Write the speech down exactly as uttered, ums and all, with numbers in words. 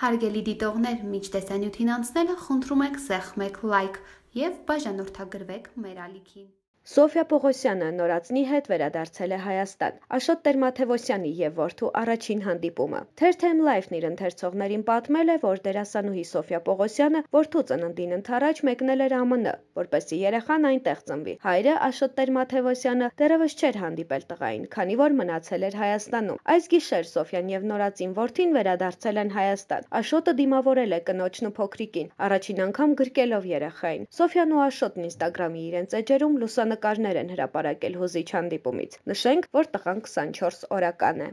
Հարգելի դիտողներ, մինչ տեսանյութին անցնելը խնդրում ենք սեղմեք լայք և բաժանորդագրվեք մեր ալիքին։ Սոֆյա Պողոսյանը նորածնի հետ վերադարձել է Հայաստան։ Աշոտ Տեր-Մաթևոսյանի և որդու առաջին հանդիպումը։ Թերթ-Եմ Լայֆն իր ընթերցողներին պատմել է, որ դերասանուհի Սոֆյա Պողոսյանը որդու ծննդին ընդառաջ մեկնել էր ԱՄՆ, որպեսզի երեխան այնտեղ ծնվի։ Հայրը Աշոտ Տեր-Մաթևոսյանը դեռևս չէր հանդիպել տղային, քանի որ մնացել էր Հայաստանում։ Այս գիշեր Սոֆյան և նորածին որդին վերադարձել են Հայաստան։ Աշոտը դիմավորել է կնոջն ու փոքրիկին, առաջին անգամ գրկելով երեխային։ Սոֆյան ու Աշոտն Ինստագրամի իրենց էջերում լուսանկարներ են հրապարակել հուզիչ հանդիպումից։ Նշենք, որ տղան քսանչորս օրական է։